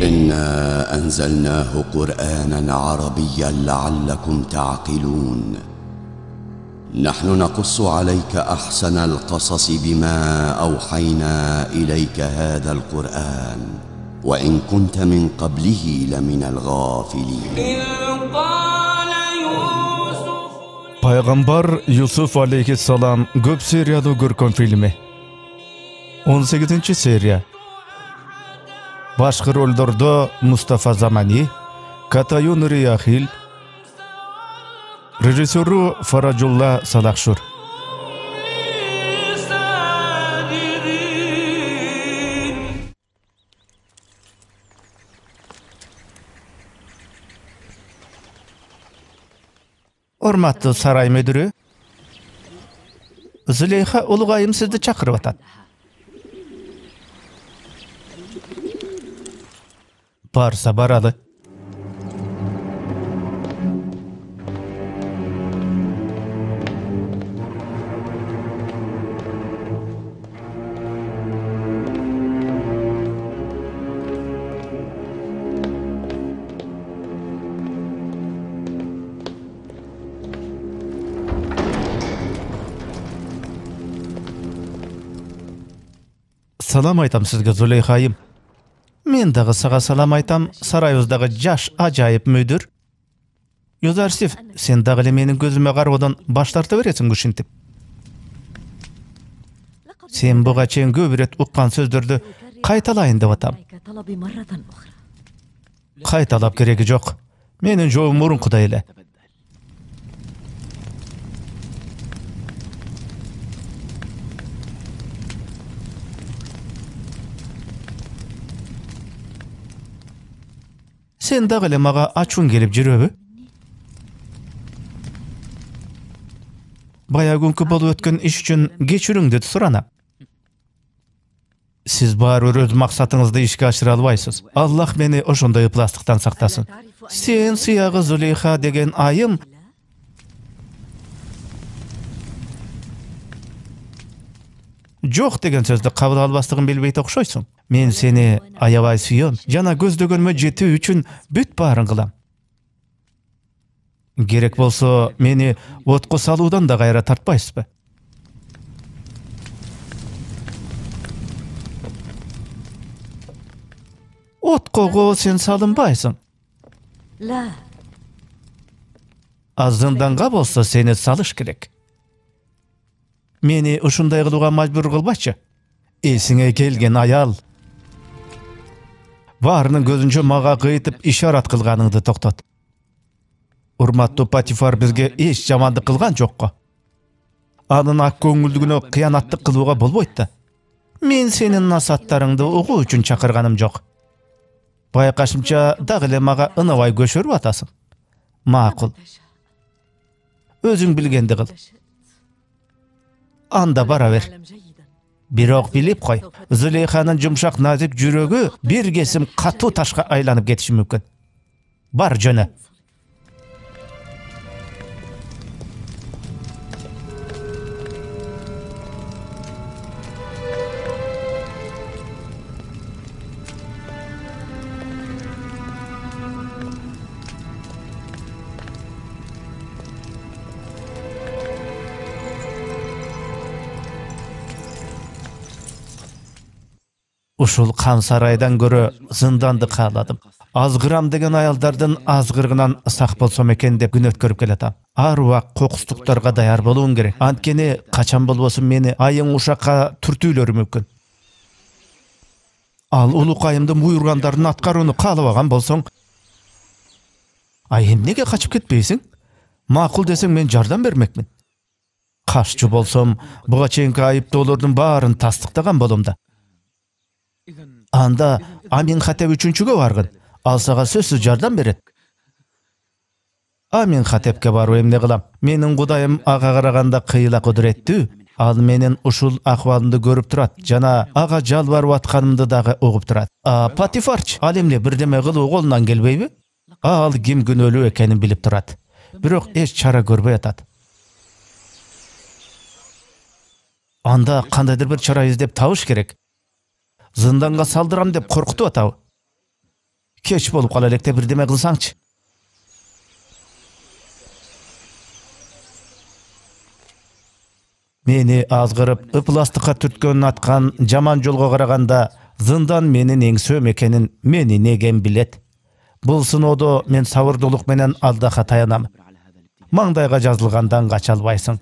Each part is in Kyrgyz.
إنا أنزلناه قرآنا عربيا لعلكم تعقلون نحن نقص عليك أحسن القصص بما أوحينا إليك هذا القرآن وإن كنت من قبله لمن الغافلين Пайгамбар Юсуф алейхиссалам көп сериялуу көркөм фильми. 18-серия. Башкы ролдордо Мустафа Замани, Катаюн Рияхил, режиссеру Фараджулла Салахшур. Урматтуу сарай мүдүрү, Зулейха улугайым сизди чакырып атат. Барса баралы. Салам айтам сизге, Зулейхайым. Мен дагы сага салам айтам, сарайыбыздагы жаш ажайып мүдүр. Юзарсив, сен дагы эле менин көзүмө кароодон баш тарта бересиң ушинтип. Сен буга чейин көп ирет уккан сөздөрдү кайталайын деп атам. Кайталап кереги жок. Менин жообум мурункудай эле. Сен дагы эле мага ачууң келип жүрөбү? Бая күнкү болуп өткөн иш үчүн кечирүүңдү суранам. Сиз баары өз максатыңызды ишке ашыра албайсыз. Аллах мени ошондой ыпластыктан сактасын. Сен сыягы Зулейха деген айым жок деген сөздү кабыл албастыгын билбейт окшойсуң. Мен сени аябай сүйөм, жана көздөгөнмө жетүү үчүн бүт баарын кылам. Керек болсо, мени отко салуудан да кайра тартпайсызбы? Откого сен салынбайсың? Зынданга болсо сени салыш керек. Мени ушундай кылууга мажбур кылбачы. Эсиңе келген аял. Баарынын көзүнчө мага кыйтып ишарат кылганыңды токтот. Урматтуу Патифар бизге эч жамандык кылган жокко. Анын ак көңүлдүгүнө кыянаттык кылууга болбойт да. Мен сенин насаттарыңды угуу үчүн чакырганым жок. Байкашымча дагы эле мага ынабай көшөрүп атасың. Макул. Өзүң билгенди кыл. Анда бара бер. Бирок билип кой, Зулейханын жумшак назик жүрөгү бир кесим катуу ташка айланып кетиши мүмкүн. Бар жөнө. Ушул кан сарайдан көрө зынданды кааладым. Азгырам деген аялдардын азгыргынан сак болсом экен деп күн өткөрүп келатам. Ар убак кокустуктарга даяр болуң керек. Анткени качан болбосун мени айың ушакка түртүүлөрү мүмкүн. Ал улукайымдын буйругандарын аткарууну каалабаган болсоң, эмнеге качып кетпейсиң? Макул десең мен жардам бермекмин. Кашчу болсом, буга чейинки айыптоолордун баарын тастыктаган болом да. Анда Аминхотеп үчүнчүгө баргын. Ал сага сөзсүз жардам берет. Аминхотепке барып эмне кылам? Менин кудайым ага караганда кыйла кудуреттүү. Ал менин ушул акыбалымды көрүп турат жана ага жалбарып атканымды дагы угуп турат. Патифарчы ал эмне бирдеме кылуу колунан келбейби? Ал ким күнөөлүү экенин билип турат. Бирок эч чара көрбөй атат. Анда кандайдыр бир чара издеп табыш керек. Зынданга салдырам деп коркутуп атабы? Кеч болуп кала электе бирдеме кылсаңчы. Мени азгырып, ыпластыкка түрткөнүн аткан жаман жолго караганда, зындан менин эңсөөм экенин мен инегем билет. Бул сыноодо мен сабырдуулук менен Аллахка таянам. Маңдайга жазылгандан кача албайсың.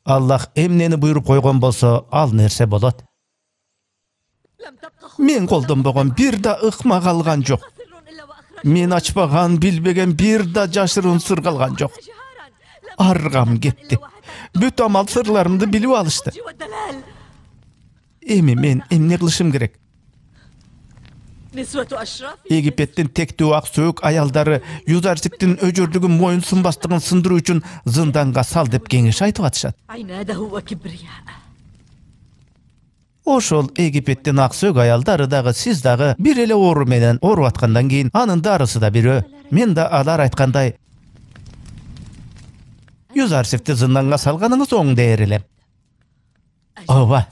Аллах эмнени буйруп койгон болсо, ал нерсе болот. Мен колдонбогон бир да ыкма калган жок. Мен ачпаган, билбеген бир да жашыруун сыр калган жок. Аргам кетти. Бүт амал сырларымды билип алышты. Эми мен эмне кылышым керек? Египеттин тектүү ак сөөк аялдары Юзарсиктин өжөрлүгүн моюн сунбастыгын сындыруу үчүн зынданга сал деп кеңеш айтып атышат. Ошол Египеттин ак сөөк аялдары дагы сиз дагы бир эле оору менен ооруп аткандан кийин анын дарысы да бирөө. Мен да алар айткандай Юзарсикти зынданга салганыңыз оң дээр элем. Ооба,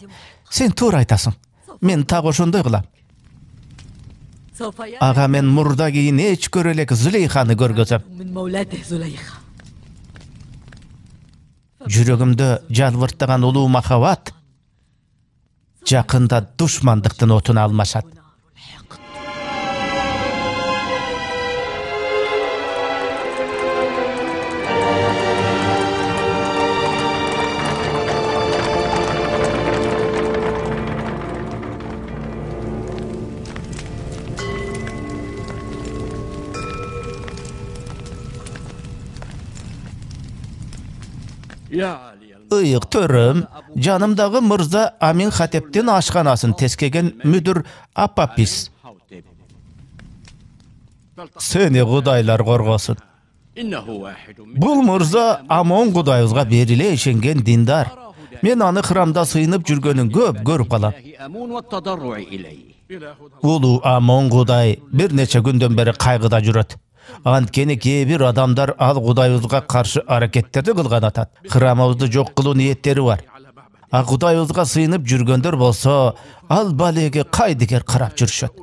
сен туура айтасың. Мен так ошондой кылам. Ага мен мурда кийин эч көрө элек Зулейханы көргөзөм. Жүрөгүмдө жалбырттаган улуу махабат жакында душмандыктын отуна алмашат. Ыйык төрөм, жанымдагы мырза Амин Хатептин ашканасын тескеген мүдүр Апапис. Сени кудайлар коргосун. Бул мырза Амон кудайыбызга бериле ишенген диндар. Мен аны храмда сыйынып жүргөнүн көп көрүп калам. Улуу Амон кудай бир нече күндөн бери кайгыда жүрөт. Анткени кээ бир адамдар ал кудайыбызга каршы аракеттерди кылган атат. Храмыбызды жок кылуу ниеттери бар. А кудайыбызга сыйынып жүргөндөр болсо, ал балеге кайдыгер карап жүрүшөт.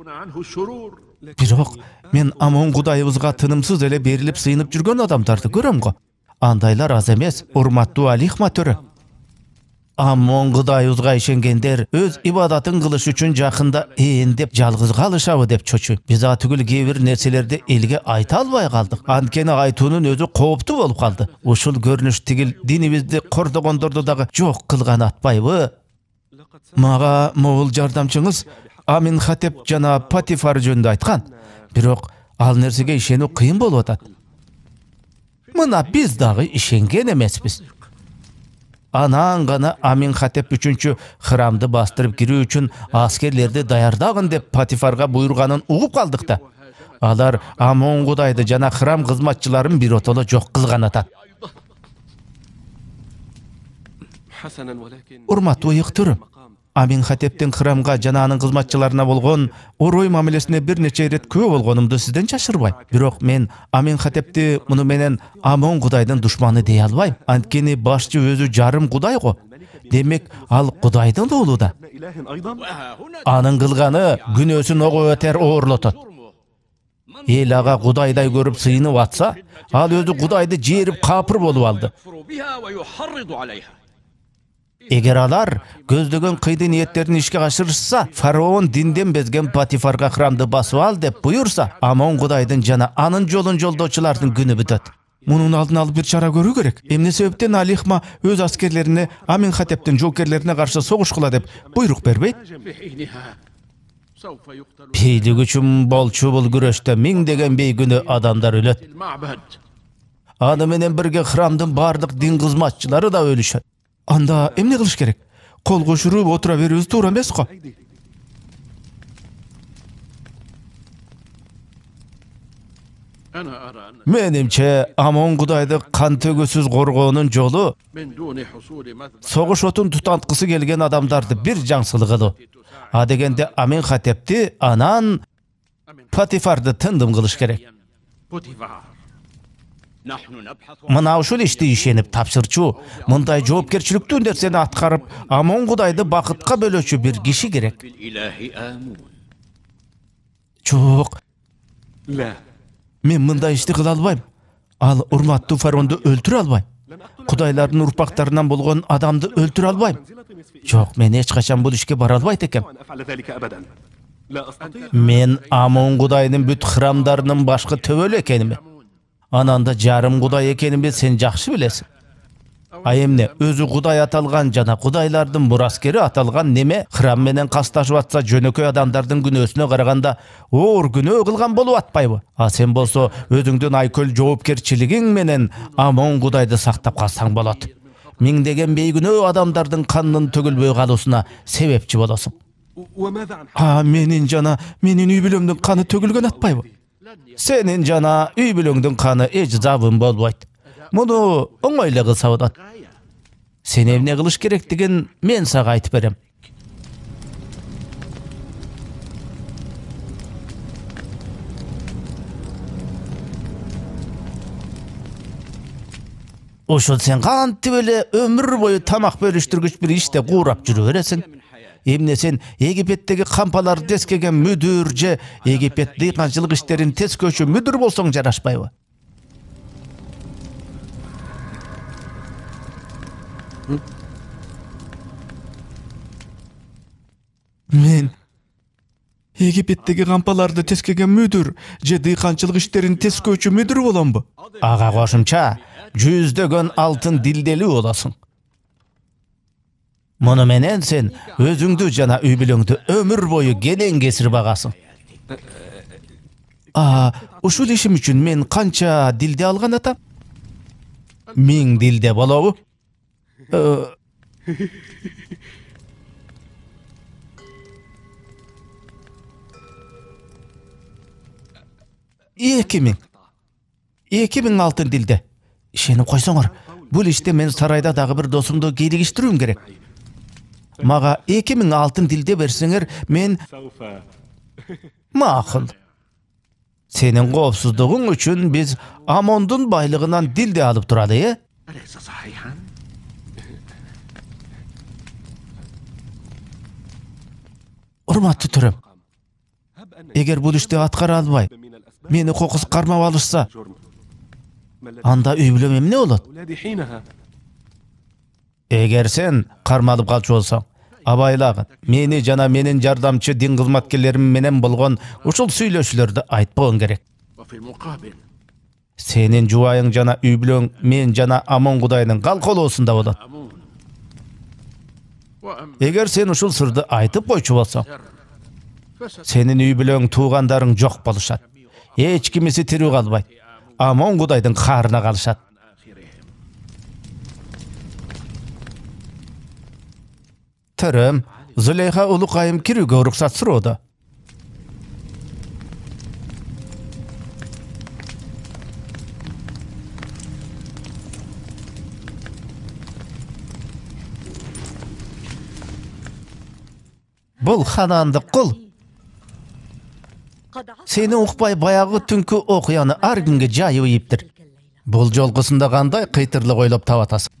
Бирок мен Амон кудайыбызга тынымсыз эле берилип сыйынып жүргөн адамдарды көрөм го. Андайлар аз эмес, урматтуу Алихма төрө. Амон кудайыбызга ишенгендер өз ибадатын кылыш үчүн жакында эендеп жалгыз калышабы деп чочуйм. Биз атүгүл кээ бир нерселерди элге айта албай калдык. Анткени айтуунун өзү кооптуу болуп калды. Ушул көрүнүш тигил динибизди кордогондорду дагы жок кылган атпайбы? Мага могул жардамчыңыз Амин Хатеп жана Патифар жөнүндө айткан. Бирок ал нерсеге ишенүү кыйын болуп атат. Мына биз дагы ишенген эмеспиз. Анан гана Амин Хатеп 3-чү храмды бастырып кирүү үчүн аскерлерди даярдагын деп Патифарга буйруганын угуп калдык да. Алар Амон кудайды жана храм кызматчыларын биротоло жок кылган атат. Урматтуу ыйыктырым, Амин Хатептин храмга жана анын кызматчыларына болгон орой мамилесине бир нече ирет күбө болгонумду сизден чашырбайм. Бирок мен Амин Хатепти муну менен Амон кудайдын душманы дей албайм. Анткени башчы өзү жарым кудай го. Демек ал кудайдын уулу да. Анын кылганы күнөөсүн ого өтер оорлотот. Эл ага кудайдай көрүп сыйынып атса, ал өзү кудайды жээрип капыр болуп алды. Эгер алар көздөгөн кыйды ниеттерин ишке ашырышса, фараон динден безген Патифарга храмды басып ал деп буйурса, Амон кудайдын жана анын жолун жолдоочулардын күнү бүтөт. Мунун алдын алып бир чара көрүү керек. Эмне себептен Алихма өз аскерлерине Амин Хатептин жоокерлерине каршы согушкула деп буйрук бербейт? Бийлик үчүн болчу бул күрөштө миңдеген бейгүнөө адамдар өлөт. Аны менен бирге храмдын бардык дин кызматчылары да өлүшөт. Анда эмне кылыш керек? Кол кошуруп отура берүүбүз туура эмес го? Менимче Амон Кудайды кан төгүүсүз коргоонун жолу согуш отун тутанткысы келген адамдарды бир жаңсылыгылы. А дегенде Аменхотепти анан Патифарды тындым кылыш керек. Мына ушул ишти ишенип тапшырчу, мындай жоопкерчиликтүү нерсени аткарып, Амон Кудайды бакытка бөлөөчү бир киши керек. Жок. Мен мындай ишти кыла албайм. Ал урматтуу фараонду өлтүрө албайм. Кудайлардын урпактарынан болгон адамды өлтүрө албайм. Жок, мен эч качан бул ишке бара албайт экем. Мен Амон Кудайдын бүт храмдарынын башкы төбөлү экеними, анан да жарым Кудай экенимди сен жакшы билесиң. А эмне, өзү Кудай аталган жана Кудайлардын мураскери аталган неме храм менен касташып атса жөнөкөй адамдардын күнөөсүнө караганда оор күнөө кылган болуп атпайбы? А сен болсо өзүңдүн айкөл жоопкерчилигиң менен Амон Кудайды сактап калсаң болот. Миңдеген бейгүнөө адамдардын канынын төгүлбөй калуусуна себепчи болосуң. Менин үй бүлөмдүн каны төгүлгөн атпайбы? Сенин жана үй бүлөңдүн каны эч забын болбойт. Муну оңой эле кылса болот. Сен эмне кылыш керектигин мен сага айтып берем. Ошол сен кантип эле өмүр бою тамак бөлүштүргүч бир иште куурап жүрө бересиң? Эмне сен Египеттеги кампаларды тескеген мүдүр же Египет дыйканчылык иштерин тескөөчү мүдүр болсоң жарашпайбы? Мен Египеттеги кампаларды тескеген мүдүр же дыйканчылык иштерин тескөөчү мүдүр боломбу? Ага кошумча жүздөгөн алтын дилделүү болосуң. Муну менен сен өзүңдү жана үй бүлөңдү өмүр бою келең кесир багасың. Ушул ишим үчүн мен канча дилде алган атам? 1000 дилде болобу? 2000 алтын дилде. Ишенип койсоңор, бул иште мен сарайда дагы бир досумду кийлигиштирүүм керек. Мага 2000 алтын дилде берсеңер, мен макул. Сенин коопсуздугуң үчүн биз Амондун байлыгынан дилде алып туралы, Урматтуу төрөм, эгер бул ишти аткара албай, мени кокус кармап алышса, анда үй бүлөм эмне болот? Эгер сен кармалып калчу болсоң, абайлагын, мени жана менин жардамчы дин кызматкерлерим менен болгон ушул сүйлөшүүлөрдү айтпагың керек. Сенин жубайың жана үй бүлөң мен жана Амон Кудайдын калколоосунда болот. Эгер сен ушул сырды айтып койчу болсоң, сенин үй бүлөң туугандарың жок болушат. Эч кимиси тирүү калбайт. Амон Кудайдын каарына калышат. Төрөм, Зулейха улукайым кирүүгө уруксат суроодо. Бул ханандык кул. Сени укпай баягы түнкү окуяны ар күнгө жайып ийиптир. Бул жолгусунда кандай кыйтырлык ойлоп табатасың?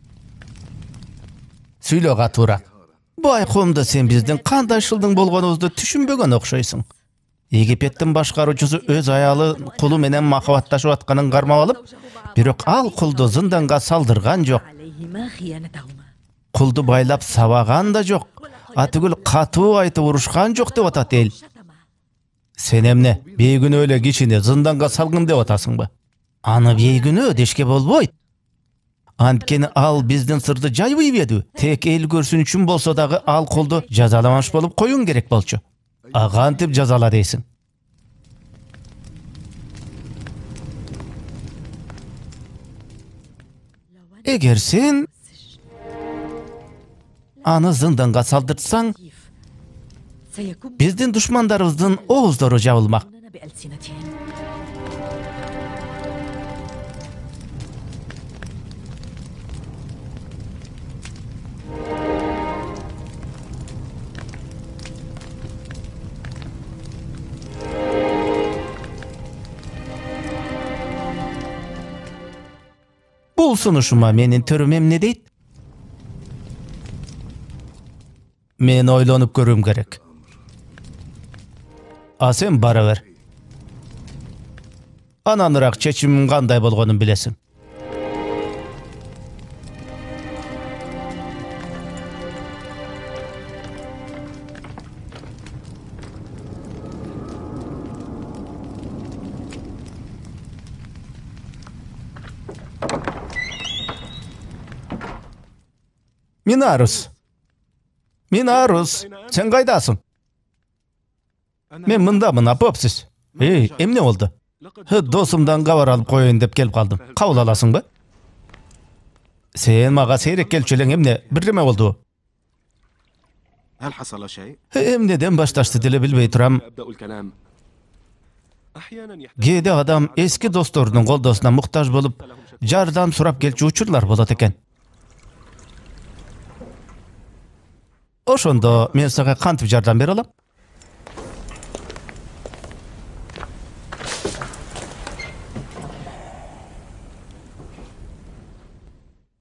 Сүйлө катуураак. Байкомдо сен биздин кандай шылдың болгонубузду түшүнбөгөн окшойсуң. Египеттин башкаруучусу өз аялы кулу менен махабатташып атканын кармап алып, бирок ал кулду зынданга салдырган жок. Кулду байлап сабаган да жок. Атүгүл катуу айтып урушкан жок деп атат эл. Сен эмне, бейгүнөө эле кишини зынданга салгын деп атасыңбы? Аны бейгүнөө дешке болбойт. Анткени ал биздин сырды жайып ийбеди. Тек эл көрсүн үчүн болсо дагы ал кулду жазаламаш болуп коюң керек болчу. Кантип жазала дейсиң? Эгер сен аны зынданга салдыртсаң, биздин душмандарыбыздын ооздору жабылмак. Бул сунушума менин төрөм эмне дейт? Мен ойлонуп көрүм керек. А сен бара бер. Ананыраак чечимим кандай болгонун билесиң. Минарус, сен кайдасың? Мен мындамын, апопсиз. Эмне болду? Досумдан кабар алып коеюн деп келип калдым. Кабыл аласыңбы? Сен мага сейрек келчү элең, эмне? Бирдеме болду? Эмнеден башташты деле билбей турам. Кээде адам эски досторунун колдосуна муктаж болуп, жардам сурап келчү учурлар болот экен. Ошондо мен сага кантип жардам бере алам?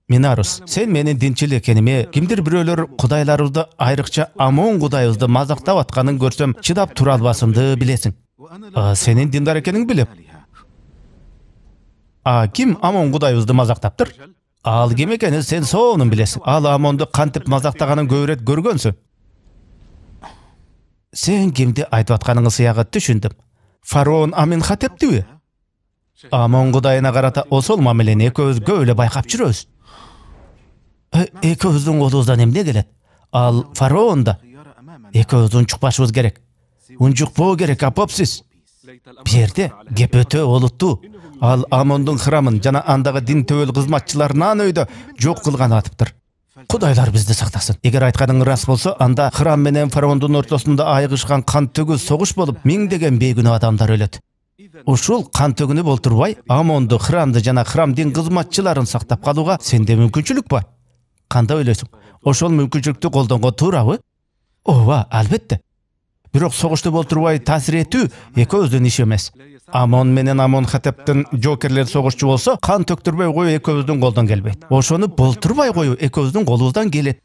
Минарус, сен менин динчил экениме, кимдир бирөөлөр кудайларыбызды, айрыкча Амон кудайыбызды мазактап атканын көрсөм, чыдап тура албасымды билесиң. Сенин диндар экениңди билем. Ким Амон кудайыбызды мазактаптыр? Ал ким экенин сен соонун билесиң. Ал Амонду кантип мазактаганын көп ирет көргөнсүң. Сен кимди айтып атканыңы сыягы түшүндүм. Фараон Аминхотептиби? Амон кудайына карата осол мамилени экөөбүз көп эле байкап жүрөбүз. Экөөбүздүн колубуздан эмне келет? Ал фараон да. Экөөбүз унчукпашыбыз керек. Унчукпоо керек, апопсиз. Берде кеп өтө олуттуу. Ал Амондун храмын жана андагы дин төбөл кызматчыларын ан өйдө жок кылган атыптыр. Кудайлар бизди сактасын. Эгер айтканың рас болсо, анда храм менен фараондун ортосунда айыгышкан кан төгүз согуш болуп, миңдеген бейгүнөө адамдар өлөт. Ушул кан төгүнүп олтурбай, Амонду, храмды жана храм дин кызматчыларын сактап калууга сенде мүмкүнчүлүк бар. Кандай ойлойсуң? Ошол мүмкүнчүлүктү колдонгон туурабы? Ооба, албетте. Бирок согушту болтурбай таасир этүү экөөбүздүн иш эмес. Амон менен Амонхотептин жокерлер согушчу болсо, кан төктүрбөй коюу экөөбүздүн колдон келбейт. Ошону болтурбай коюу экөөбүздүн колубуздан келет.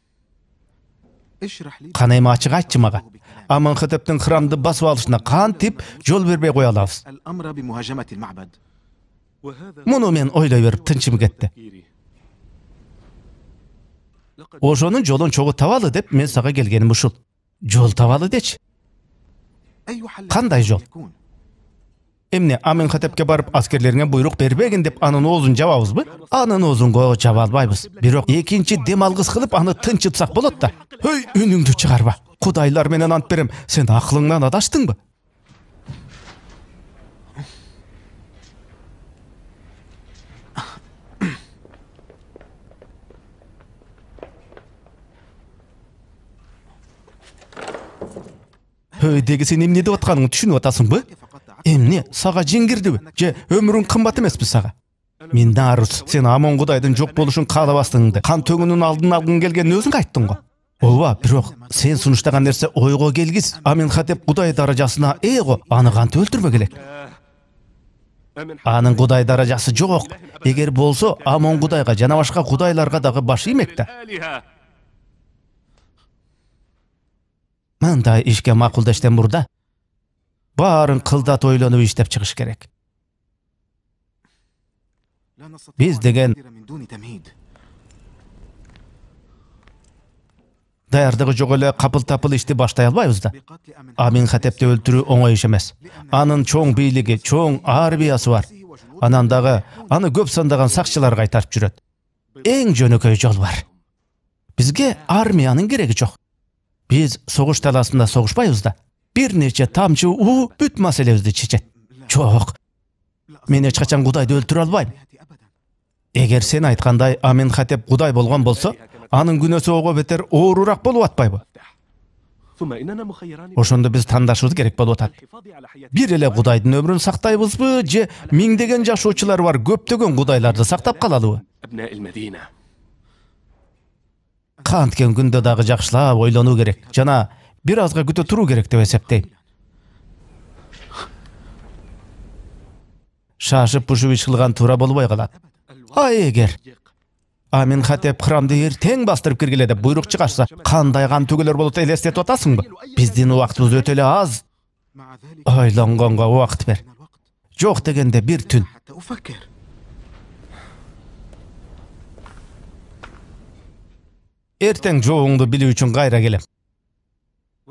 Кана эми ачык айтчы мага. Амонхотептин храмды басып алышына кантип жол бербей кое алабыз? Муну мен ойлой берип тынчым кетти. Ошонун жолун чогуу табалы деп мен сага келгеним ушул. Жол табалы дечи. Кандай жол? Эмне, Аминхотепке барып аскерлериңе буйрук бербегин деп анын оозун жабабызбы? Анын оозунго жаба албайбыз. Бирок экинчи дем алгыс кылып аны тынчытсак болот да. Үнүңдү чыгарба. Кудайлар менен ант берем, сен акылыңдан адаштыңбы? Деги сен эмне деп атканыңды түшүнүп атасыңбы? Эмне, сага жиңгирдиби? Же өмүрүң кымбат эмеспи сага? Минарус, сен Амон кудайдын жок болушун каалабастыгыңды, кан төгүүнүн алдын алгың келгенин өзүң айттың го. Ооба, бирок сен сунуштаган нерсе ойго келгис. Аминхотеп кудай даражасына го, аны кантип өлтүрбөк элек? Анын кудай даражасы жок. Эгер болсо, Амон кудайга жана башка кудайларга дагы баш иймек да. Мындай ишке макулдаштан мурда баарын кылдат ойлонуп иштеп чыгыш керек. Биз деген даярдыгы жок эле капыл-тапыл ишти баштай албайбыз да. Аминхотепти өлтүрүү оңой иш эмес. Анын чоң бийлиги, чоң армиясы бар. Анан дагы аны көп сандаган сакчылар кайтарып жүрөт. Эң жөнөкөй жол бар. Бизге армиянын кереги жок. Биз согуш таласында согушпайбыз да. Бир нече тамчы уу бүт маселебизди чечет. Жок. Мен эч качан кудайды өлтүрө албайм. Эгер сен айткандай Аминхотеп кудай болгон болсо, анын күнөөсү ого бетер оорураак болуп атпайбы? Ошондо биз тандашыбыз керек болуп атат. Бир эле кудайдын өмүрүн сактайбызбы, же миңдеген жашоочулары бар көптөгөн кудайларды сактап калалыбы? Канткен күндө дагы жакшылап ойлонуу керек. Жана бир азга күтө туруу керек деп эсептейм. Шашып пушуп иш кылган туура болбой калат. эгер Аминхотеп храмды эртең бастырып киргиле деп буйрук чыгарса, кандай кан төгөлөр болот элестетип атасыңбы? Биздин убактыбыз өтө эле аз. Ойлонгонго убакыт бер. Жок дегенде бир түн. Эртең жоогуңду билүү үчүн кайра келем.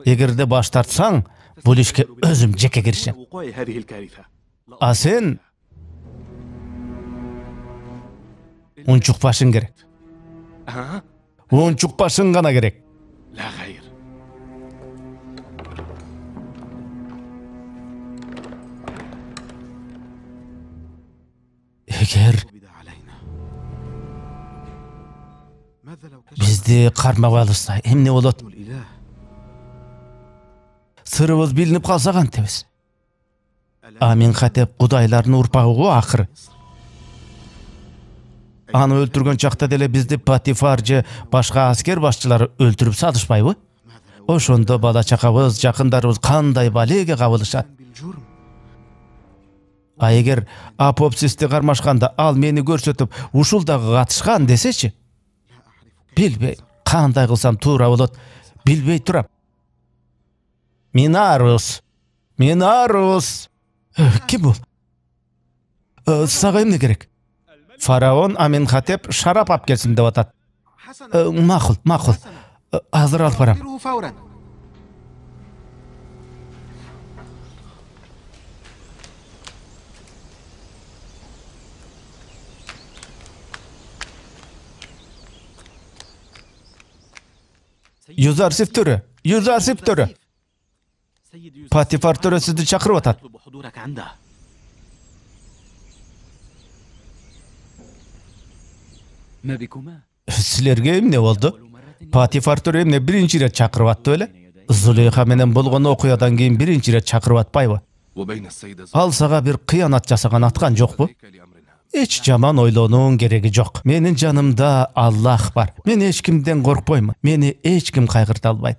Эгерде баш тартсаң, бул ишке өзүм жеке киришем. А сен унчукпашың керек. Унчукпашың гана керек. Эгер бизди кармап алышса, эмне болот? Сырыбыз билинип калса кантебиз? Аминхотеп кудайлардын урпагы го акыры. Аны өлтүргөн чакта деле бизди Патифар же башка аскер башчылары өлтүрүп сатышпайбы? Ошондо бала чакабыз, жакындарыбыз кандай балеге кабылышат? А эгер Апопсисти кармашканда ал мени көрсөтүп, ушул дагы катышкан десечи? Билбейм, кандай кылсам туура болот, билбей турам. Минарус. Ким бул? Сага эмне керек? Фараон Аминхотеп шарап алып келсин деп атат. Макул. Азыр алып барам. Юзарсип төрө. Патифар төрө сизди чакырып атат. Силерге эмне болду? Патифар төрө эмне биринчи ирет чакырып атты беле? Зулейха менен болгон окуядан кийин биринчи ирет чакырып атпайбы? Ал сага бир кыянат жасаган аткан жокпу? Эч жаман ойлонуун кереги жок. Менин жанымда Аллах бар. Мен эч кимден коркпоймун. Мени эч ким кайгырта албайт.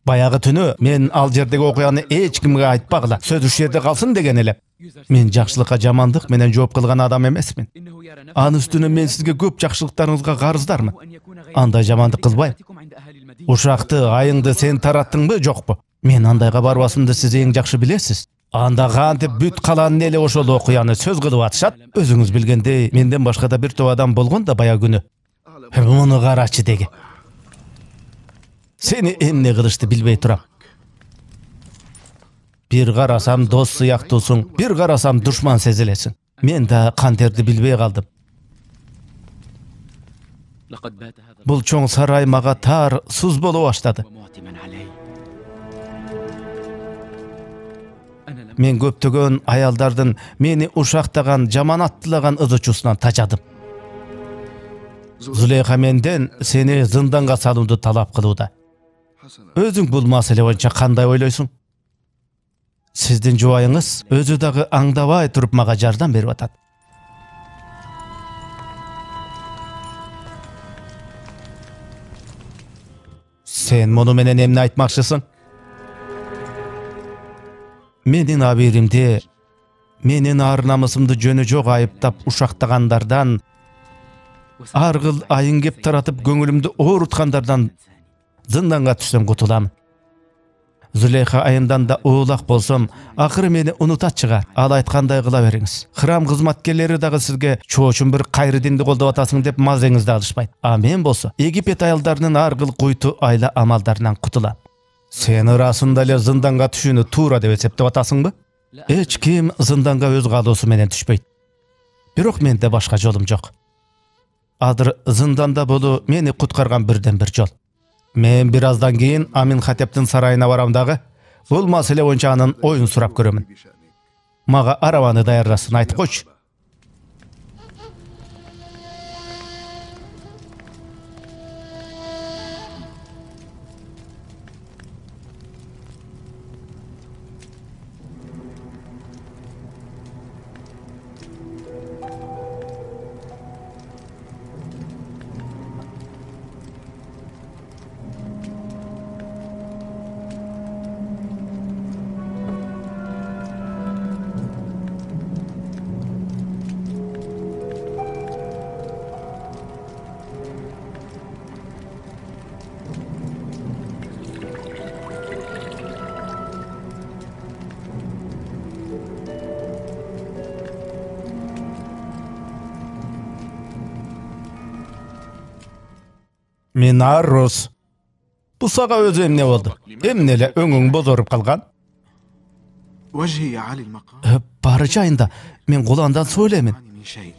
Баягы түнү мен ал жердеги окуяны эч кимге айтпагыла, сөз ушул жерде калсын деген элем. Мен жакшылыкка жамандык менен жооп кылган адам эмесмин. Анын үстүнө мен сизге көп жакшылыктарыңызга карыздармын. Андай жамандык кылбайм. Ушакты, айыңды сен тараттыңбы, жокпу? Мен андайга барбасымды сиз эң жакшы билесиз. Анда кантип бүт калаанын эли ошол окуяны сөз кылып атышат? Өзүңүз билгендей, менден башка да бир топ адам болгон да баягы күнү. Муну карачы деги. Сени эмне кылышты билбей турам. Бир карасам дос сыяктуусуң, бир карасам душман сезилесиң. Мен да кантерди билбей калдым. Бул чоң сарай мага тар, суз боло баштады. Мен көптөгөн аялдардын мени ушактаган, жаманаттылаган ызычуусунан тажадым. Зулейха менден сени зынданга салууну талап кылууда. Өзүң бул маселе боюнча кандай ойлойсуң? Сиздин жубайыңыз өзү дагы аңдабай туруп мага жардам берип атат. Сен муну менен эмне айтмакчысың? Менин абийиримде, менин ар намысымды жөнү жок айыптап ушактагандардан, аргыл айын кеп таратып көңүлүмдү ооруткандардан зынданга түшсөм кутулам. Зулейха айымдан да уулак болсом, акыры мени унутат чыгар. Ал айткандай кыла бериңиз. Храм кызматкерлери дагы сизге чоочун бир кайры динди колдоп атасың деп мазеңизди алышпайт. А мен болсо Египет аялдарынын аргыл куйту айла амалдарынан кутулам. Сен ырасында эле зынданга түшүүнү туура деп эсептеп атасыңбы? Эч ким зынданга өз каалоосу менен түшпөйт. Бирок менде башка жолум жок. Азыр зынданда болуу мени куткарган бирден бир жол. Мен бир аздан кийин Аминхотептин сарайына барам дагы. Бул маселе боюнча анын оюн сурап көрөмүн. Мага араваны даярдасын, айтып койчу. Минарус. Бул сага өзү эмне болду? Эмне эле өңүң бозоруп калган? وجهي يا علي المقام Бары жайында мен куландан суу элемин. من شيء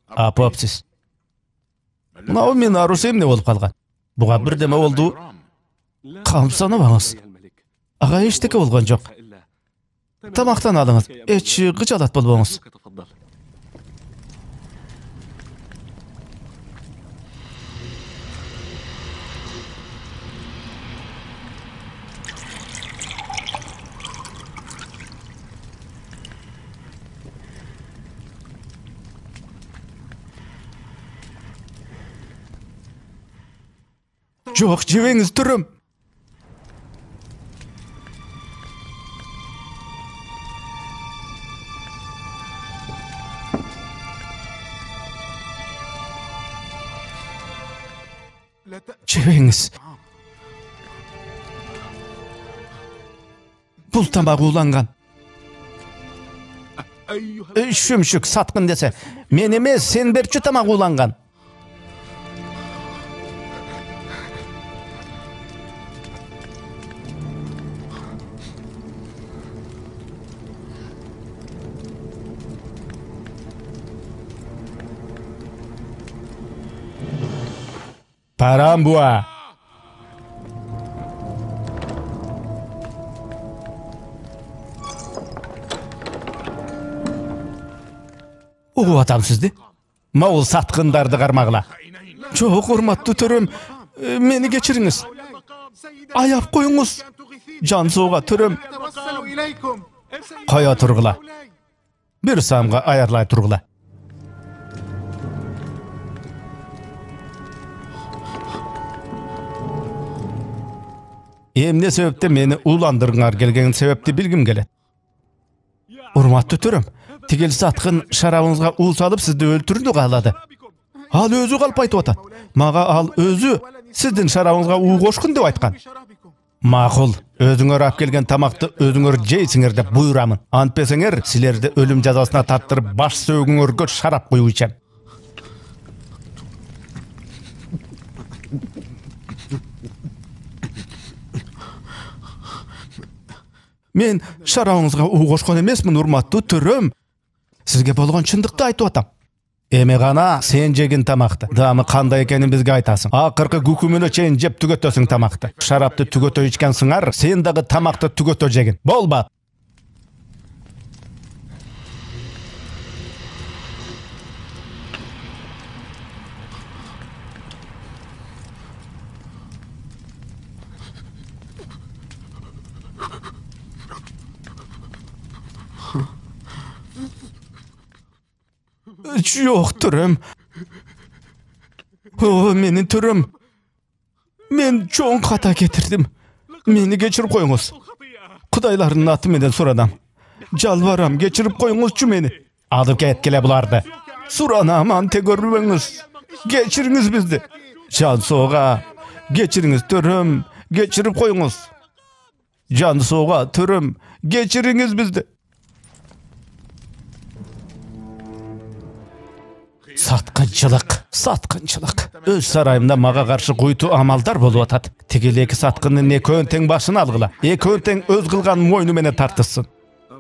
Апапсыз. Мынау Минарус эмне болуп калган? Буга бирдеме болду. Камсанабаңыз. Ага эчтеке болгон жок. Тамактан алыңыз. Эч кычалат болбоңуз. Жок, жебеңиз түрүм. Жебеңиз. Бул тамак уланган. Шүмшүк саткын десе, мен эмес, сен берчү тамак уланган. Парамбуа. Угуп атам сизди. Могул саткындарды кармагыла. Жок, урматтуу төрөм, мени кечириңиз. Аяп коюңуз. Жан сууга төрөм. Кая тургула. Бир самга аярлай тургула. Эмне себептен мени уландырыңар келген себепти билгим келет. Урматтуу төрөм, тигил саткын шарабыңызга уу салып сизди өлтүрдү каалады. Ал өзү калп айтып атат. Мага ал өзү сиздин шарабыңызга уу кошкун деп айткан. Макул, өзүңөр алып келген тамакты өзүңөр жейсиңер деп буйрамын. Антпесеңер, силерди өлүм жазасына тартырып баш сөөгүңөргө шарап куюу ичем. Мен шарабыңызга уу кошкон эмесмин, урматтуу төрөм. Сизге болгон чындыкты айтып атам. Эми гана сен жегин тамакты. Даамы кандай экенин бизге айтасың. Акыркы күкүмүнө чейин жеп түгөтөсүң тамакты. Шарапты түгөтө ичкен сыңар, сен дагы тамакты түгөтө жегин. Болбат. Жок, төрөм. О, менин төрөм. Мен чоң ката кетирдим. Мени кечирип коюңуз. Кудайлардын аты менен суранам. Жалбарам, кечирип коюңузчу мени. Алып кеткиле буларды. Суранам, анте көрбөңүз. Кечириңиз бизди. Жан соога, кечириңиз төрөм, кечирип коюңуз. Жан соога, төрөм, кечириңиз бизди. Саткынчылык. Өз сарайымда мага каршы куйту амалдар болуп атат. Тигил эки саткындын экөөнүн тең башын алгыла. Экөөнүн тең өз кылган мойну менен тартышсын.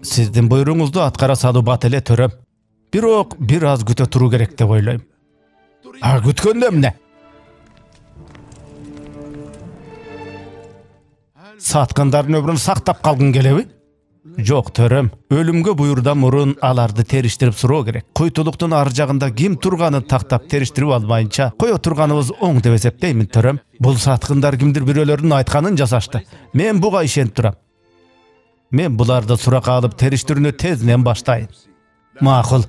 Сиздин буйруңузду аткара салуу бат эле, төрөм. Бирок бир аз күтө туруу керек деп ойлойм. А күткөндө эмне? Саткындардын өмүрүн сактап калгың келеби? Жок, төрөм. Өлүмгө буйрудан мурун аларды териштирип суроо керек. Куйтулуктун ар жагында ким турганын тактап териштирип албайынча кое турганыбыз оң деп эсептеймин, төрөм. Бул саткындар кимдир бирөөлөрдүн айтканын жасашты. Мен буга ишенип турам. Мен буларды суракка алып териштирүүнү тезинен баштайын. Макул.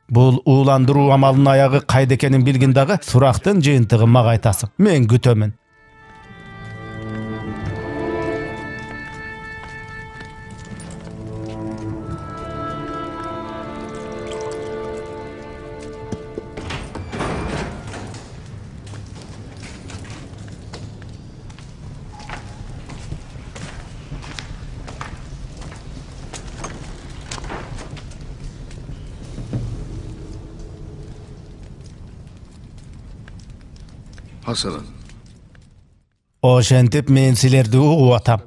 Бул ууландыруу амалынын аягы кайда экенин билгин дагы сурактын жыйынтыгын мага айтасың. Мен күтөмүн. حسنا Ошентип мен силерди угуп атам.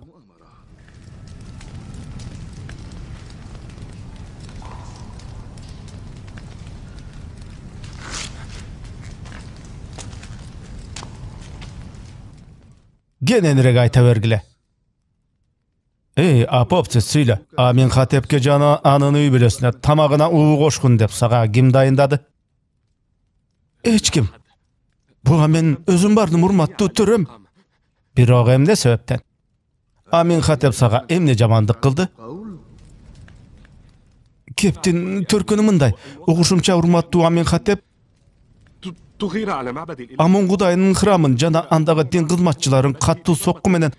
Кененирээк айта бергиле. Апопсиз сүйлө. Аминхотепке жана анын үй бүлөсүнө тамагына уу кошкун деп сага ким дайындады? Эч ким. Буга мен өзүм бардым, урматтуу төрөм. Бирок эмне себептен? Аминхотеп сага эмне жамандык кылды? Кептин төркүнү мындай. Угушумча, урматтуу Аминхотеп تغير على معبد الإله Амон Кудайдын храмын жана андагы дин кызматчыларын каттуу сокку менен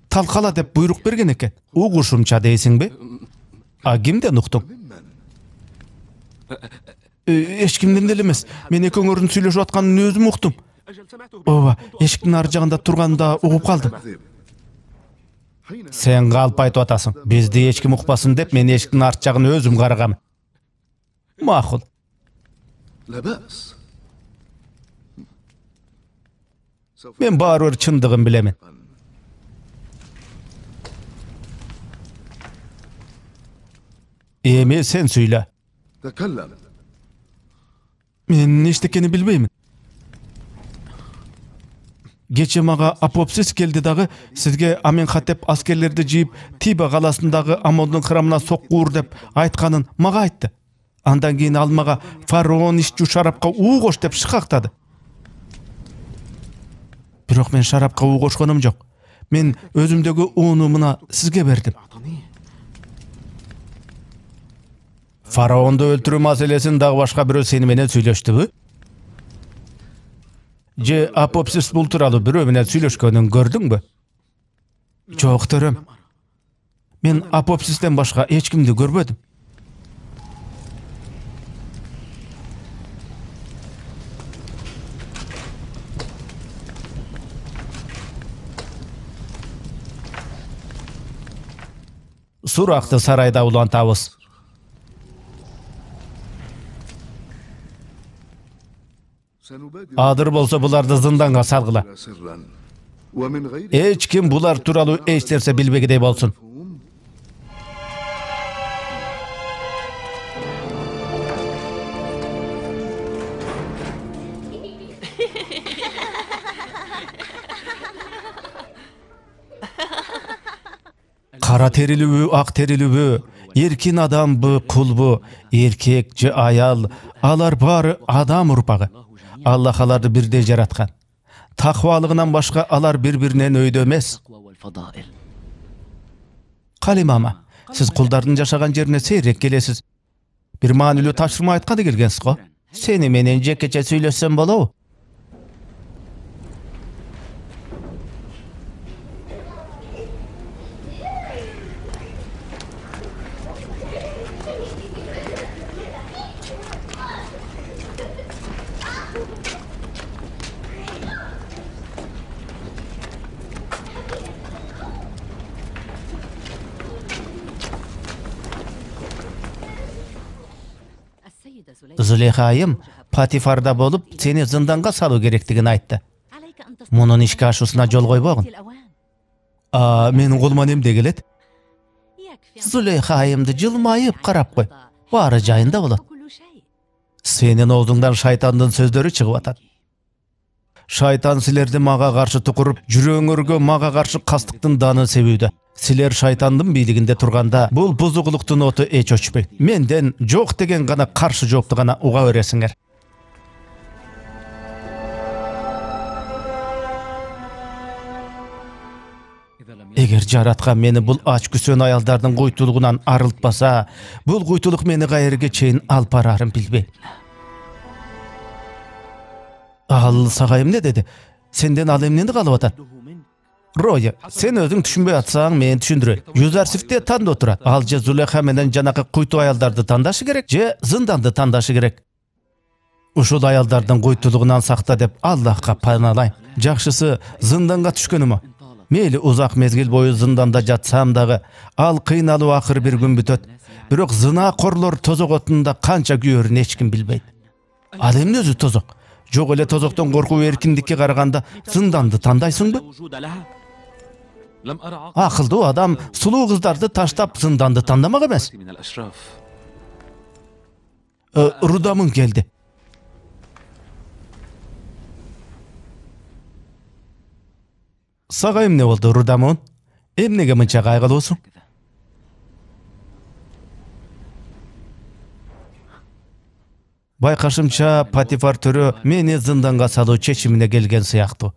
талкала деп буйрук берген экен. Угушумча дейсиңби? Кимден уктуң? Эч кимден деле эмес. Мен экөөңөрдүн сүйлөшүп атканын өзүм уктум. أجل سمعته Ооба, эшиктин ар жагында турганда угуп калдым. Сен калп айтып атасың. Бизди эч ким укпасын деп мен эшиктин арт жагын өзүм карагам. Макул. لا بأس Мен баары бир чындыгын билемин. Эми сен сүйлө. تكلم Мен эчтекени билбеймин. Кече мага Апопсис келди дагы сизге Аминхотеп аскерлерди жыйып Тиба каласындагы Амондун храмына соккуур деп айтканын мага айтты. Андан кийин ал мага фараон иччү шарапка уу кош деп шыкактады. Бирок мен шарапка уу кошконум жок. Мен өзүмдөгү ууну мына сизге бердим. Фараонду өлтүрүү маселесин дагы башка бирөө сени менен сүйлөштүбү? Же Апопсис бул тууралуу бирөө менен сүйлөшкөнүн көрдүңбү? Жок, төрөм. Мен Апопсистен башка эч кимди көрбөдүм. Суракты сарайда улантабыз. سنبادر Адыр болсо буларды зынданга салгыла. سرا ومن غير Эч ким булар тууралуу эч нерсе билбегидей болсун. Кара терилүүбү, ак терилүүбү, эркин адамбы, кулбу, эркек же аял, алар баары адам урпагы. Аллах аларды бирдей жараткан. Таквалыгынан башка алар бири-биринен өйдө эмес. Калимама, сиз кулдардын жашаган жерине сейрек келесиз. Бир маанилүү тапшырма айтканы келгенсиз го. Сени менен жекече сүйлөшсөм болобу? Зулейха айым Патифарда болуп, сени зынданга салуу керектигин айтты. Мунун ишке ашуусуна жол койбогун. Менин колуман эмне келет? Зулейха айымды жылмайып карап кой. Баары жайында болот. Сенин оозуңдан шайтандын сөздөрү чыгып атат. Шайтан силерди мага каршы тукуруп, жүрөгүңөргө мага каршы кастыктын данын себүүдө. Силер шайтандын бийлигинде турганда, бул бузугулуктун оту эч өчпөйт. Менден жок деген гана каршы жоопту гана уга бересиңер. Эгер жараткан мени бул ач күсөн аялдардын куйтулугунан арылтпаса, бул куйтулук мени кайерге чейин алып барарын билбейм. Ал сага эмне деди? Сенден ал эмнени каалап атат? Роя, сен өзүң түшүнбөй атсаң, мен түшүндүрөйүн. Юзарсифте тандоо турат. Ал же Зулейха менен жанакы куйту аялдарды тандашы керек, же зынданды тандашы керек. Ушул аялдардын куйтулугунан сакта деп Аллахка паналайм. Жакшысы зынданга түшкөнүмө. Мейли узак мезгил бою зынданда жатсам дагы, ал кыйналуу акыр бир күн бүтөт. Бирок зынакорлор тозок отунда канча күйөрүн эч ким билбейт. Ал эмне өзү тозок? Жок эле тозоктон коркуп эркиндикке караганда зынданды тандайсыңбы? Акылдуу адам сулуу кыздарды таштап зынданды тандамак эмес. Рудамын келди. Сага эмне болду, Рудамын? Эмнеге мынча кайгылуусуң? Байкашымча, Патифар төрө мени зынданга салуу чечимине келген сыяктуу.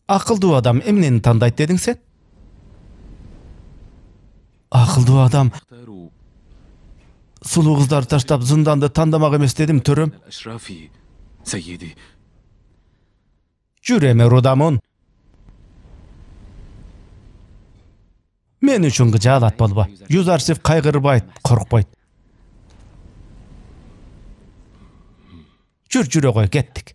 Акылдуу адам эмнени тандайт дедиң сен? Акылдуу адам сулуу кыздарды таштап зынданды тандамак эмес дедим, төрөм. Жүр эми, Рудамын. Мен үчүн кыжаалат болбо. Юзарсев кайгырбайт, коркпойт. Жүрө кой, кеттик.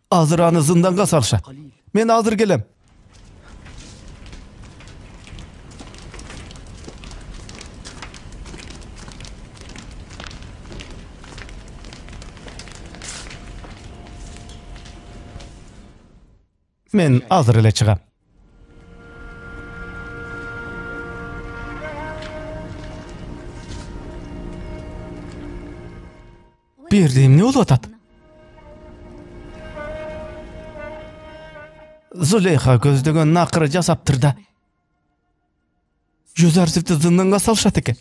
Азыр аны зынданга салышат. Мен азыр келем. Мен азыр эле чыгам. Берде эмне болуп атат? Зулейха көздөгөн накыры жасаптыр да. Юзарсевди зынданга салышат экен.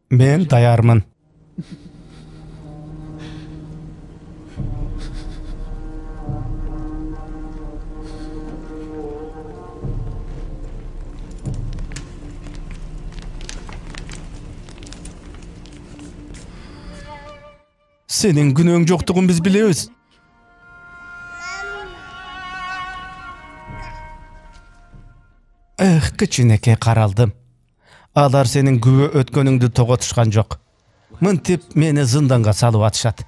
Мен даярмын. Сенин күнөөң жоктугун биз билебиз. Кичинекей каралдым. Алар сенин күбө өткөнүңдү тоготушкан жок. Мынтип мени зынданга салып атышат.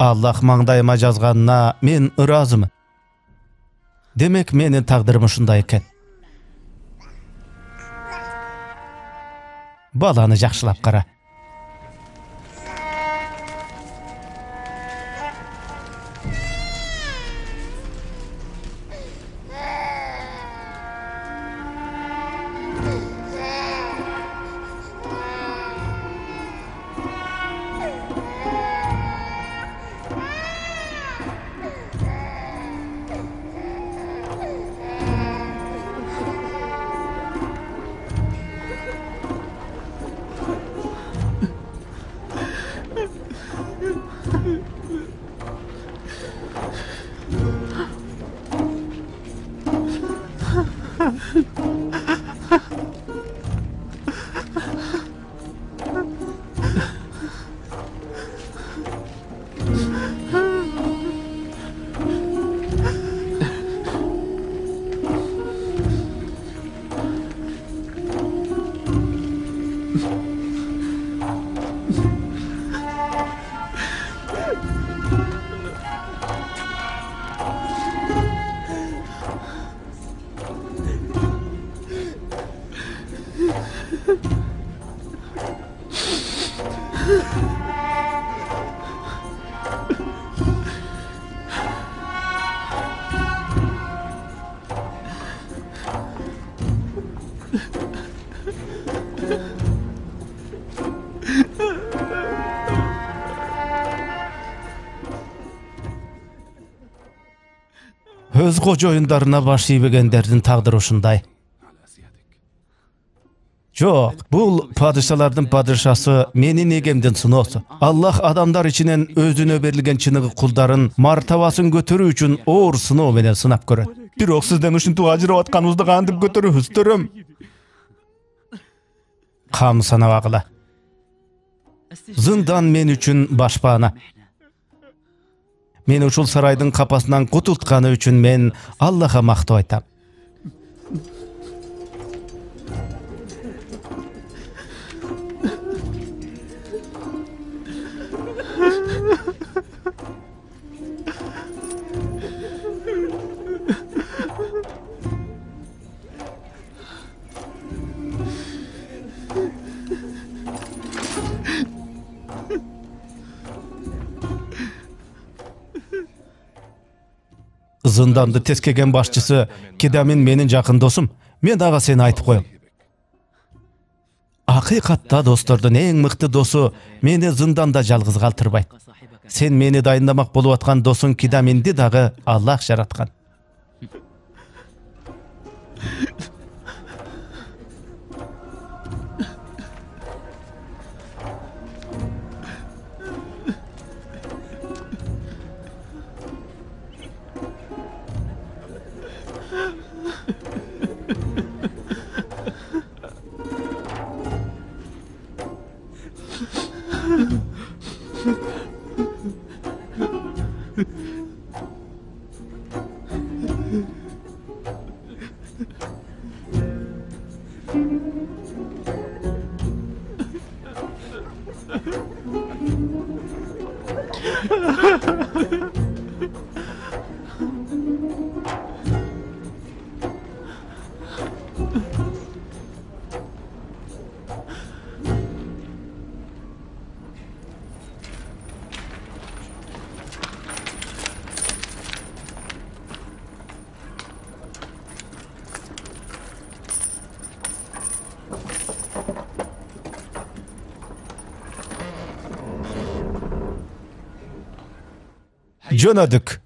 Аллах маңдайыма жазганына мен ыраазымын. Демек менин тагдырым ушундай экен. Баланы жакшылап кара. Өз кожоюндарына баш ийбегендердин тагдыры ушундай. Жок, бул падышалардын падышасы менин эгемдин сыноосу. Аллах адамдар ичинен өзүнө берилген чыныгы кулдарын мартабасын көтөрүү үчүн оор сыноо менен сынап көрөт. Бирок сизден ушинтип ажырап атканыбызды кантип көтөрөбүз, төрөм? Кам санабагыла. Зындан мен үчүн башпаана. Мени ушул сарайдын капасынан кутултканы үчүн мен Аллахка мактоо айтам. Зынданды тескеген башчысы Кидамин менин жакын досум. Мен ага сени айтып коем. Акыйкатта достордун эң мыкты досу мени зынданда жалгыз калтырбайт. Сен мени дайындамак болуп аткан досуң Кидаминди дагы Аллах жараткан. Жөнөдүк.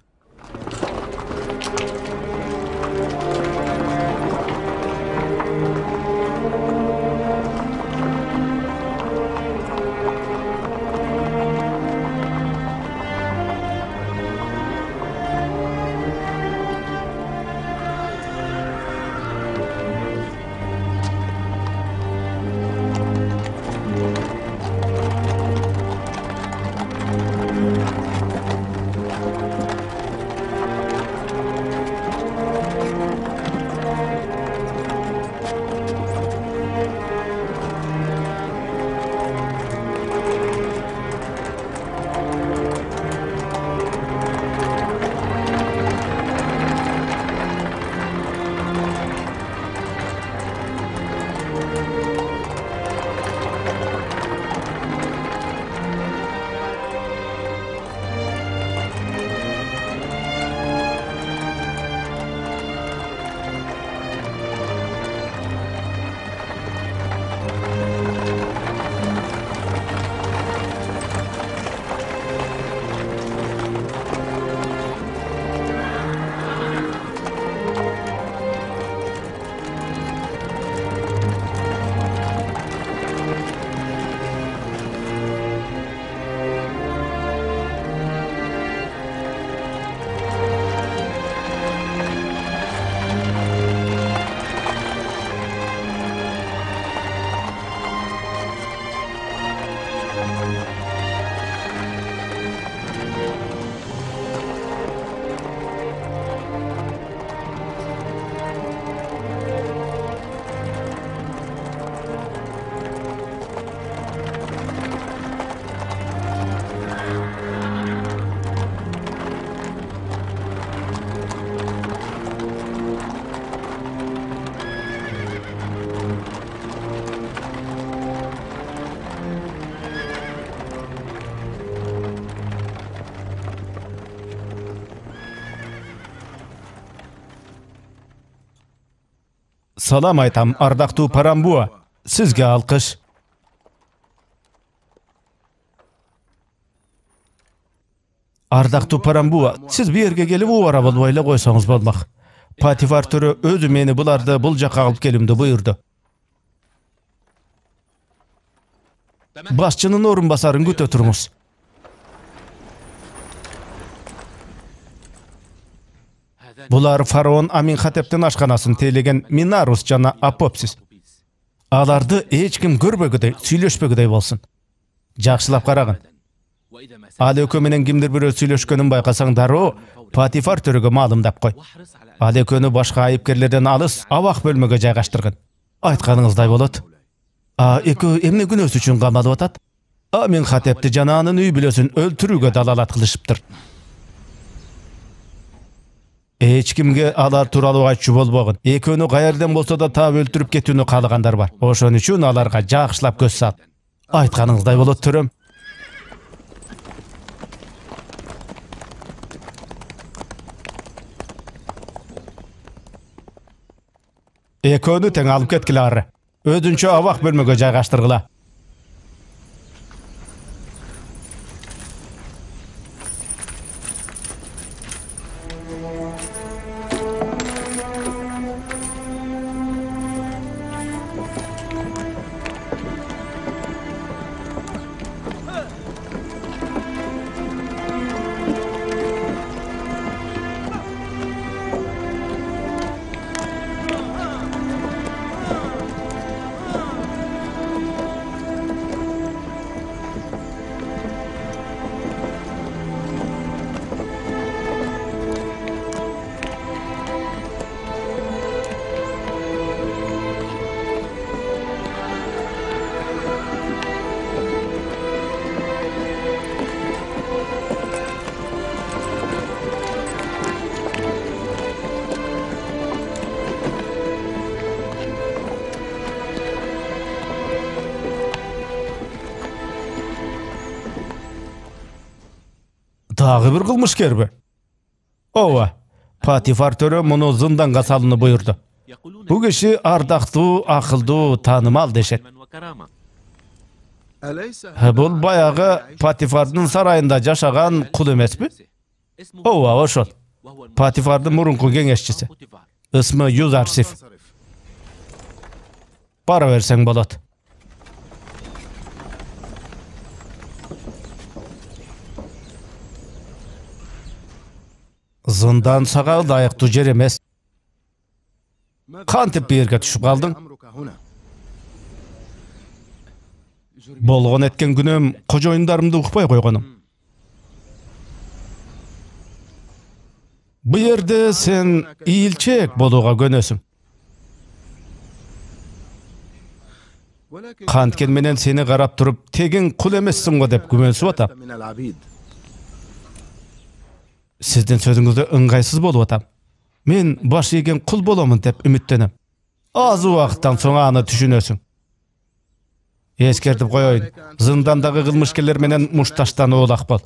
Салам айтам, ардактуу Парамбуа. Сизге алкыш. Ардактуу Парамбуа, сиз бу жерге келип убара болбой эле койсоңуз болмак. Патифар төрө өзү мени буларды бул жакка алып келимди буйрду. Башчынын орун басарын күтө туруңуз. Булар фараон Аминхотептин ашканасын тейлеген Минарус жана Апопсис. Аларды эч ким көрбөгүдөй, сүйлөшпөгүдөй болсун. Жакшылап карагын. Ал экөө менен кимдир бирөө сүйлөшкөнүн байкасаң дароо Патифар төрөгө маалымдап кой. Ал экөөнү башка айыпкерлерден алыс абак бөлмөгө жайгаштыргын. Айтканыңыздай болот. Экөө эмне күнөөсү үчүн камалып атат? Аминхотепти жана анын үй бүлөсүн өлтүрүүгө далалат кылышыптыр. Эч кимге алар тууралуу айтчу болбогун. Экөөнү каерден болсо да таап өлтүрүп кетүүнү каалагандар бар. Ошон үчүн аларга жакшылап көз сал. Айтканыңыздай болот, төрөм. Экөөнү тең алып кеткиле ары. Өзүнчө абак бөлмөгө жайгаштыргыла. Дагы бир кылмышкерби? Ооба, Патифар төрө муну зынданга салууну буйрду. Бу киши ардактуу, акылдуу, таанымал дешет. Бул баягы Патифардын сарайында жашаган кул эмеспи? Ооба, ошол. Патифардын мурунку кеңешчиси. Ысмы Юзарсиф. Бара берсең болот. Зындан сага ылайыктуу жер эмес. Кантип бу жерге түшүп калдың? Болгон эткен күнөм кожоюндарымды укпай койгонум. Бу жерде сен ийилчек болууга көнөсүң. Канткен менен сени карап туруп, тегин кул эмессиң го деп күмөнсүп атам. Сиздин сөзүңүздө ыңгайсыз болуп атам. Мен баш ийген кул боломун деп үмүттөнөм. Аз убакыттан соң аны түшүнөсүң. Эскертип коеюн, зындандагы кылмышкерлер менен мушташтануу улак бол.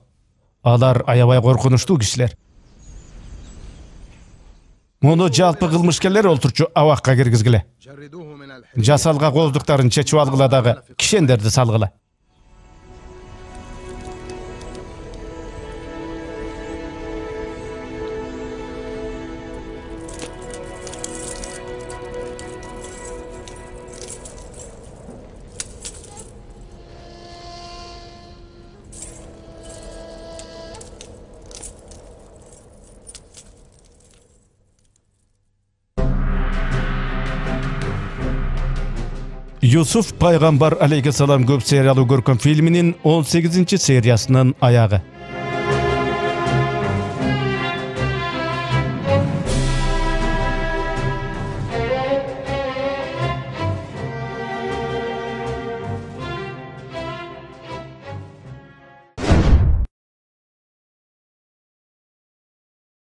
Алар аябай коркунучтуу кишилер. Муну жалпы кылмышкерлер олтурчу абакка киргизгиле. Жасалга кооздуктарын чечип алгыла дагы кишендерди салгыла. Юсуф пайгамбар алейхиссалам көп сериялуу көркөм фильминин 18-сериясынын аягы.